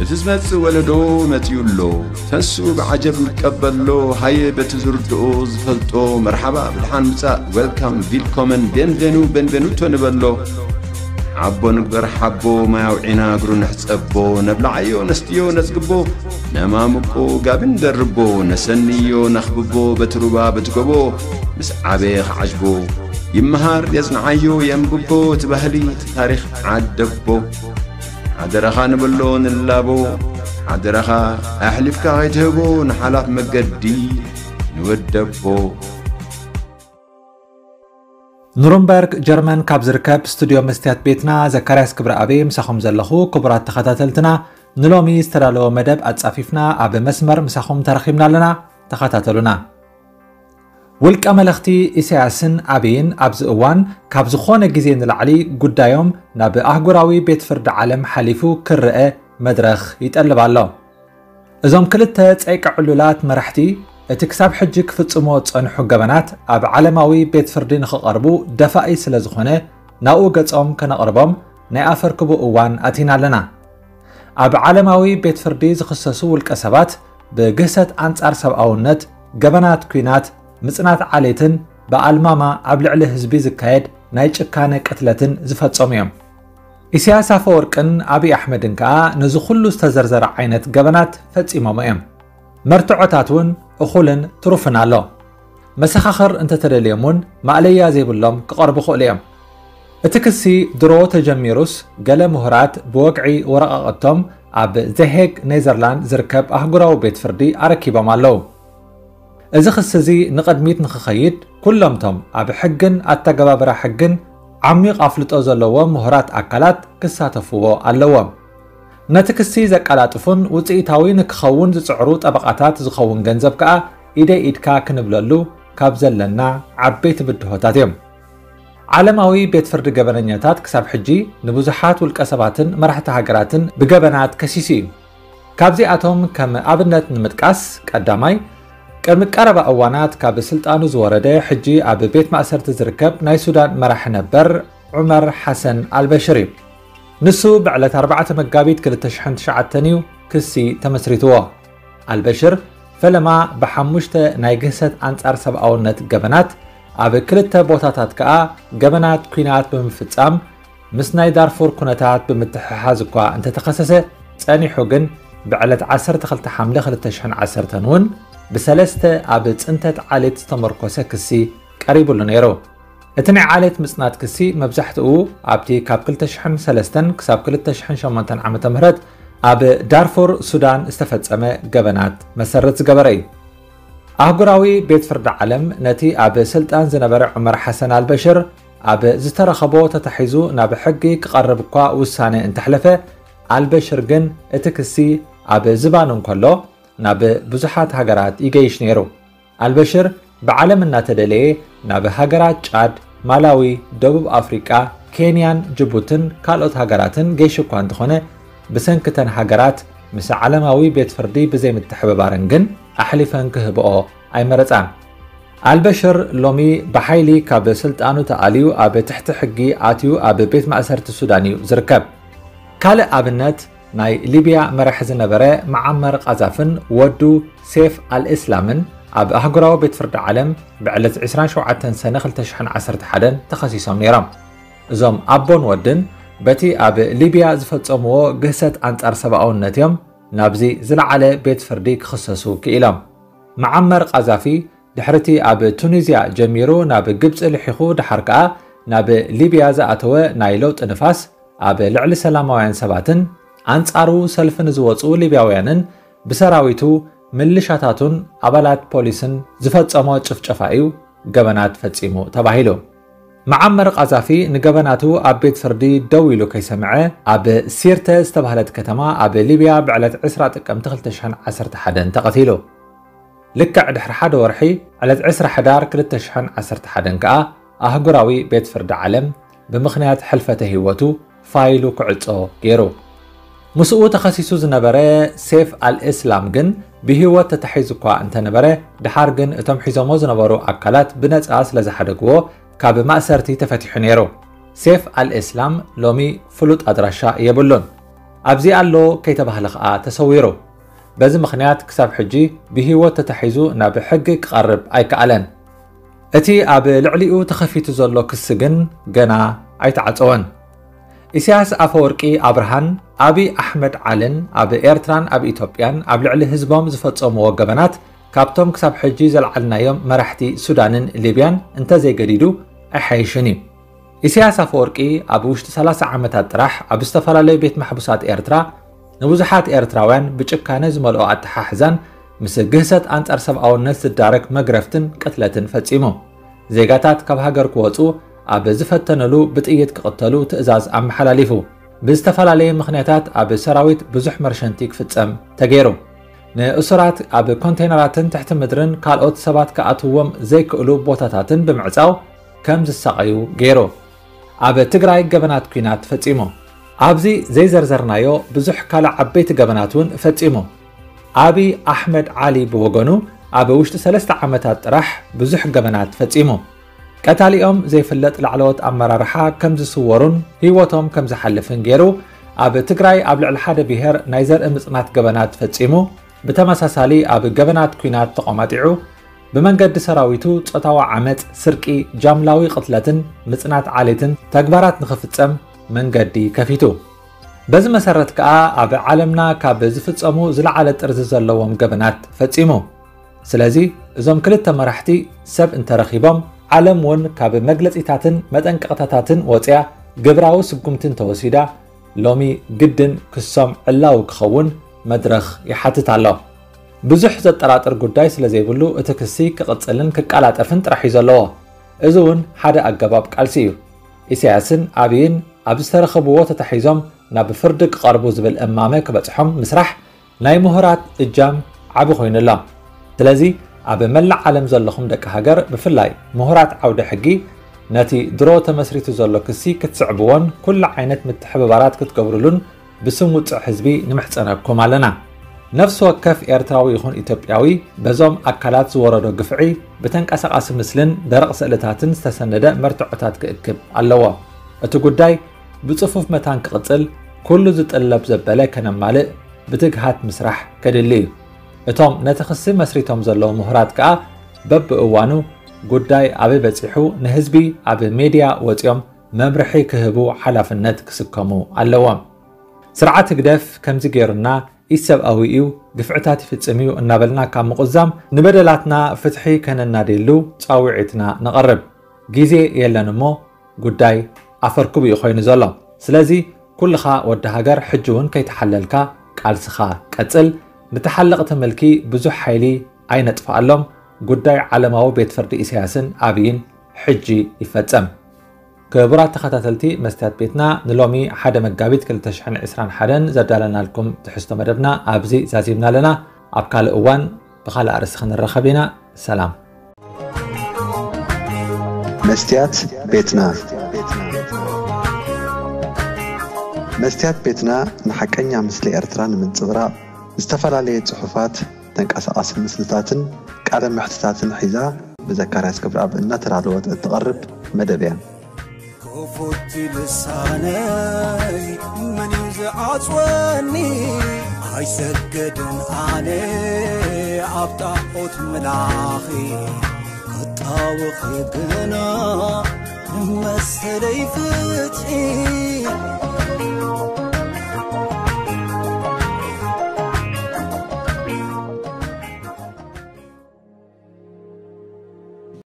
እቲ ዝመጽእ ወለዶ መጺኡ ኣሎ። ተንስኡ ብዓጀብ ንቀበሎ። ሃየ በቲ ዝርድኦ ዝፈልጦ መርሓባ ብድሓን ምጻእ፣ ዌልካም፣ ቪልኮመን፣ ቤንቬኑ፣ ቤንቬኑቶ ንበሎ። ሓቦ ንግበር ሓቦ፣ ማይ ኣውዒና እግሩ ንሕጸቦ። ነብልዓዮ ነስትዮ ነጽግቦ፣ ነማምቆ ጋቢ ንደርቦ። ነሰንዮ ነኽብቦ በቲ ሩባ በቲ ጎቦ። ምስ ዓበየ ክዓጅቦ ይመሃር የጽንዓዮ የንብቦ። እቲ ባህሊ እቲ ታሪኽ ዓደቦ። ሓደራኻ ንብሎ ንላቦ። ሓደራኻ ኣሕሊፍካ ከይትህቦ ንሓላፍ መገዲ ንወደቦ። ኑርንበርግ ጀርመን ካብ ዝርከብ ስቱድዮ መስትያት ቤትና ዘካርያስ ክብረኣብ ምሳኹም ዘለኹ። ክቡራት ተኸታተልትና፣ ንሎሚ ዝተዳለወ መደብ ኣጻፊፍና ኣብ መስመር ምሳኹም ተረኺብና ኣለና። ተኸታተሉና። ውልቀ መለኽቲ ኢሳያስን ኣብይን ኣብዚ እዋን ካብ ዝኾነ ግዜ ንላዕሊ ጉዳዮም ናብ ኣህጉራዊ ቤት ፍርዲ ዓለም ሓሊፉ ክረአ መድረኽ ይጠልብ ኣሎ። እዞም ክልተ ጸይቂ ዕሉላት መራሕቲ እቲ ክሳብ ሕጂ ክፍጽሞ ዝጸንሑ ገበናት ኣብ ዓለማዊ ቤት ፍርዲ ንኽቐርቡ ደፋኢ ስለ ዝኾነ ናብኡ ገጾም ከነቕርቦም ናይ ኣፈርክቡ እዋን ኣቲና ኣለና። ኣብ ዓለማዊ ቤት ፍርዲ ዝኽሰሱ ውልቀ ሰባት ብግህሰት ኣንጻር ሰብኣውነት፣ ገበናት ኲናት፣ ምጽናት ዓሌትን ብኣልማማ ኣብ ልዕሊ ህዝቢ ዝካየድ ናይ ጭካነ ቅትለትን ዝፈጸሙ እዮም። ኢሳያስ ኣፈወርቅን ኣብይ ኣሕመድን ከኣ ነዚ ኩሉ ዝተዘርዘረ ዓይነት ገበናት ፈጺሞሞ እዮም። መርትዖታት እውን እኹልን ትሩፍን ኣሎ። መሰኻኽር እንተተደልዮም እውን ማእለያ ዘይብሎም ክቐርቡ ይኽእሉ እዮም። እቲ ክሲ ድሮ ተጀሚሩስ ገለ ምሁራት ብወግዒ ወረቓቕቶም ኣብ ዘሄግ ኔዘርላንድ ዝርከብ ኣህጉራዊ ቤት ፍርዲ ኣረኪቦም ኣለዉ። እዚ ክሲ እዚ ንቕድሚት ንኽኸይድ ኩሎምቶም ኣብ ሕግን ኣተገባብራ ሕግን ዓሚቕ ኣፍልጦ ዘለዎም ምሁራት ኣካላት ክሳተፍዎ ኣለዎም። ነቲ ክሲ ዘቀላጥፉን ውፅኢታዊ ንክኸውን ዝፅዕሩ ጠበቓታት ዝኸውን ገንዘብ ከኣ ኢደይ ኢድካ ክንብለሉ ካብ ዘለና ዓበይቲ ብድሆታት እዮም። ዓለማዊ ቤት ፍርዲ ገበነኛታት ክሳብ ሕጂ ንብዙሓት ውልቀ ሰባትን መራሕቲ ሃገራትን ብገበናት ከሲሱ እዩ። ካብዚኣቶም ከም ኣብነት ንምጥቃስ፣ ቀዳማይ፣ ቅድሚ ቀረባ እዋናት ካብ ስልጣኑ ዝወረደ ሕጂ ኣብ ቤት ማእሰርቲ ዝርከብ ናይ ሱዳን መራሒ ነበር ዑመር ሓሰን ኣልበሽር እዩ። ንሱ ብዕለት ኣርባዕተ መጋቢት ክልተ ሽሕን ትሽዓተን እዩ ክሲ ተመስሪትዎ። ኣልበሽር ፈለማ ብሓሙሽተ ናይ ግህሰት ኣንጻር ሰብኣውነት ገበናት፣ ኣብ ክልተ ቦታታት ከኣ ገበናት ኲናት ብምፍጻም ምስ ናይ ዳርፉር ኩነታት ብምትሕሓዝ እኳ እንተተኸሰሰ፣ ጸኒሑ ግን ብዕለት ዓሰርተ ክልተ ሓምለ ክልተ ሽሕን ዓሰርተን እውን ብሰለስተ ኣብ ጽንተት ዓሌት ዝተመርኮሰ ክሲ ቀሪቡሉ ነይሩ። እቲ ናይ ዓሌት ምጽናት ክሲ መብዛሕትኡ ኣብቲ ካብ ክልተ ሽሕን ሰለስተን ክሳብ ክልተ ሽሕን ሸሞንተን ዓመተ ምህረት ኣብ ዳርፉር ሱዳን ዝተፈጸመ ገበናት መሰረት ዝገበረ እዩ። ኣህጉራዊ ቤት ፍርዲ ዓለም ነቲ ኣብ ስልጣን ዝነበረ ዑመር ሓሰን ኣልበሽር ኣብ ዝተረኸቦ ተታሒዙ ናብ ሕጊ ክቐርብ እኳ ውሳነ እንተሕለፈ፣ ኣልበሽር ግን እቲ ክሲ ኣብ ዝባኑ እንከሎ ናብ ብዙሓት ሃገራት ይገይሽ ነይሩ። ኣልበሽር ብዓለም እናተደለየ ናብ ሃገራት ጫድ፣ ማላዊ፣ ደቡብ ኣፍሪቃ፣ ኬንያን ጅቡትን ካልኦት ሃገራትን ገይሹ እኳ እንተኾነ፣ ብሰንኪ እተን ሃገራት ምስ ዓለማዊ ቤት ፍርዲ ብዘይምትሕብባረን ግን ኣሕሊፈን ክህብኦ ኣይመረጻን። ኣልበሽር ሎሚ ብሓይሊ ካብ ስልጣኑ ተኣልዩ ኣብ ትሕቲ ሕጊ ኣትዩ ኣብ ቤት ማእሰርቲ ሱዳን እዩ ዝርከብ። ካልእ ኣብነት ናይ ሊብያ መራሒ ዝነበረ መዓመር ቃዛፍን ወዱ ሴፍ ኣልእስላምን ኣብ ኣህጉራዊ ቤት ፍርዲ ዓለም ብዕለት ዕስራን ሸውዓተን ሰነ ክልተ ሽሕን ዓሰርተ ሓደን ተኸሲሶም ነይሮም። እዞም ኣቦን ወድን በቲ ኣብ ሊብያ ዝፈጸምዎ ግህሰት ኣንጻር ሰብኣውነት እዮም ናብዚ ዝለዓለ ቤት ፍርዲ ክኽሰሱ ክኢሎም። መዓመር ቃዛፊ ድሕሪቲ ኣብ ቱኒዝያ ጀሚሩ ናብ ግብጺ ልሒኹ ድሓር ከኣ ናብ ሊብያ ዝኣተወ ናይ ለውጢ ንፋስ ኣብ ልዕሊ ሰላማውያን ሰባትን ኣንጻሩ ሰልፊ ንዝወጹ ሊብያውያንን ብሰራዊቱ ምልሻታቱን ኣባላት ፖሊስን ዝፈጸሞ ጭፍጨፋ እዩ ገበናት ፈጺሙ ተባሂሉ። መዓመር ቃዛፊ ንገበናቱ ኣብ ቤት ፍርዲ ደው ኢሉ ከይሰምዐ ኣብ ሲርተ ዝተባህለት ከተማ ኣብ ሊብያ ብዕለት ዕስራ ጥቅምቲ ክልተ ሽሕን ዓሰርተ ሓደን ተቐቲሉ። ልክዕ ድሕሪ ሓደ ወርሒ ዕለት ዕስራ ሕዳር ክልተ ሽሕን ዓሰርተ ሓደን ከኣ ኣህጉራዊ ቤት ፍርዲ ዓለም ብምኽንያት ሕልፈተ ህይወቱ ፋይሉ ክዕጾ ገይሩ። ምስኡ ተኸሲሱ ዝነበረ ሴፍ ኣልእስላም ግን ብህይወት ተታሒዙ እኳ እንተነበረ፣ ድሓር ግን እቶም ሒዞሞ ዝነበሩ ኣካላት ብነጻ ስለ ዝሓደግዎ ካብ ማእሰርቲ ተፈቲሑ ነይሩ። ሴፍ ኣልእስላም ሎሚ ፍሉጥ ኣድራሻ የብሉን። ኣብዚ ኣሎ ከይተባህለ ከኣ ተሰዊሩ። በዚ ምኽንያት ክሳብ ሕጂ ብህይወት ተታሒዙ ናብ ሕጊ ክቐርብ ኣይከኣለን። እቲ ኣብ ልዕሊኡ ተኸፊቱ ዘሎ ክሲ ግን ገና ኣይተዓጸወን። ኢሳያስ ኣፈወርቂ ኣብርሃን ኣቢ ኣሕመድ ዓልን ኣብ ኤርትራን ኣብ ኢትዮጵያን ኣብ ልዕሊ ህዝቦም ዝፈጸምዎ ገበናት ካብቶም ክሳብ ሕጂ ዘልዓልናዮም መራሕቲ ሱዳንን ሊብያን እንተዘይገዲዱ ኣይሓይሽን እዩ። ኢሳያስ ኣፈወርቂ ኣብ ውሽጢ ሰላሳ ዓመታት ጥራሕ ኣብ ዝተፈላለዩ ቤት ማሕቡሳት ኤርትራ ንብዙሓት ኤርትራውያን ብጭካነ ዝመልኦ ኣተሓሕዛን ምስ ግህሰት ኣንጻር ሰብኣውነት ዝዳረግ መግረፍትን ቅትለትን ፈጺሙ። ዜጋታት ካብ ሃገር ክወጹ ኣብ ዝፈተነሉ ብጥይት ክቕተሉ ትእዛዝ ኣመሓላሊፉ። ብዝተፈላለየ ምኽንያታት ኣብ ሰራዊት ብዙሕ መርሸንቲ ክፍጸም ተገይሩ። ንእሱራት ኣብ ኮንቴነራትን ትሕቲ ምድርን ካልኦት ሰባት ክኣትዎም ዘይክእሉ ቦታታትን ብምዕጻው ከም ዝሳቐዩ ገይሩ። ኣብ ትግራይ ገበናት ኲናት ፈጺሙ። ኣብዚ ዘይዘርዘርናዮ ብዙሕ ካልእ ዓበይቲ ገበናት እውን ፈጺሙ። ኣቢ ኣሕመድ ዓሊ ብወገኑ ኣብ ውሽጢ ሰለስተ ዓመታት ጥራሕ ብዙሕ ገበናት ፈጺሙ። ቀታሊኦም ዘይፍለጥ ላዕለዎት ኣመራርሓ ከም ዝስወሩን ህይወቶም ከም ዝሓልፍን ገይሩ ኣብ ትግራይ ኣብ ልዕሊ ሓደ ብሄር ናይ ዘርኢ ምጽናት ገበናት ፈጺሙ። ብተመሳሳሊ ኣብ ገበናት ኲናት ተቖማጢዑ ብመንገዲ ሰራዊቱ ጾታዊ ዓመጽ፣ ስርቂ፣ ጃምላዊ ቅትለትን ምጽናት ዓሌትን ተግባራት ንኽፍጸም መንገዲ ከፊቱ። በዚ መሰረት ከኣ ኣብ ዓለምና ካብ ዝፍጸሙ ዝለዓለ ጥርዚ ዘለዎም ገበናት ፈጺሙ። ስለዚ እዞም ክልተ መራሕቲ ሰብ እንተረኺቦም ዓለም እውን ካብ መግለጺታትን መጠንቀቕታታትን ወጽያ ግብራዊ ስጉምቲ እንተወሲዳ ሎሚ ግድን ክሶም ዕላዊ ክኸውን መድረኽ ይሓትት ኣሎ። ብዙሕ ዘጠራጥር ጉዳይ ስለ ዘይብሉ እቲ ክሲ ክቕጽልን ክቀላጠፍን ጥራሕ እዩ ዘለዎ። እዚ እውን ሓደ ኣገባብ ቃልሲ እዩ። ኢሳያስን ኣብይን ኣብ ዝተረኸብዎ ተታሒዞም ናብ ፍርዲ ክቐርቡ ዝብል እማመ ክበጽሖም ምስራሕ ናይ ምሁራት እጃም ዓቢ ኮይኑ ኣሎ። ስለዚ ኣብ መላእ ዓለም ዘለኹም ደቂ ሃገር ብፍላይ ምሁራት ዓውደ ሕጊ ነቲ ድሮ ተመስሪቱ ዘሎ ክሲ ክትስዕብዎን ኩሉ ዓይነት ምትሕብባራት ክትገብሩሉን ብስም ውጹዕ ህዝቢ ንምሕጸነኩም ኣለና። ነፍሲ ወከፍ ኤርትራዊ ይኹን ኢትዮጵያዊ በዞም ኣካላት ዝወረዶ ግፍዒ ብተንቀሳቓሲ ምስልን ደረቕ ስእልታትን ዝተሰነደ መርትዖታት ክእክብ ኣለዎ። እቲ ጉዳይ ብጽፉፍ መታን ክቕጽል ኩሉ ዝጥለብ ዘበለ ከነማልእ ብትግሃት ምስራሕ ከድሊ እዩ። እቶም ነቲ ክሲ መስሪቶም ዘለዉ ምሁራት ከኣ በብእዋኑ ጉዳይ ኣበይ በጺሑ ንህዝቢ ኣብ ሜድያ ወጺኦም መምርሒ ክህቡ ሓላፍነት ክስከሙ ኣለዎም። ስርዓት ህግደፍ ከምዚ ገይሩና ኢሰብኣዊ እዩ፣ ግፍዕታት ይፍጽም እዩ እናበልና ካብ ምቑዛም ንበደላትና ፍትሒ ከነናድየሉ ጻውዒትና ነቕርብ። ግዜ የለን እሞ ጉዳይ ኣፈርክቡ እዩ ኮይኑ ዘሎ። ስለዚ ኩልኻ ወዲ ሃገር ሕጂ እውን ከይተሓለልካ ቃልስኻ ቀጽል። ንተሓለቕቲ ምልኪ ብዙሕ ሓይሊ ኣይነጥፍኣሎም። ጉዳይ ዓለማዊ ቤት ፍርዲ ኢሳያስን ኣብይን ሕጂ ይፈጸም። ክቡራት ተኸታተልቲ መስትያት ቤትና፣ ንሎሚ ሓደ መጋቢት ክልተ ሽሕን ዕስራን ሓደን ዘዳለናልኩም ትሕዝቶ መደብና ኣብዚ ዛዚምና ኣለና። ኣብ ካልእ እዋን ብኻልእ ኣርእስቲ ክንራኸብ ኢና። ሰላም። መስትያት ቤትና። መስትያት ቤትና ንሓቀኛ ምስሊ ኤርትራ ንምንጽብራቕ ዝተፈላለየ ጽሑፋት፣ ተንቀሳቓሲ ምስልታትን ቃለ መሕትታትን ሒዛ ብዘካርያስ ገብረኣብ እናተዳለወት እትቐርብ መደብ እያ። ክፉት ልሳነይ መን እዩ ዝዓጽወኒ? ኣይሰገድን ኣነ ኣብ ጣዖት ምላኺ ክጣወኺ ግና መሰለይ ፍትሒ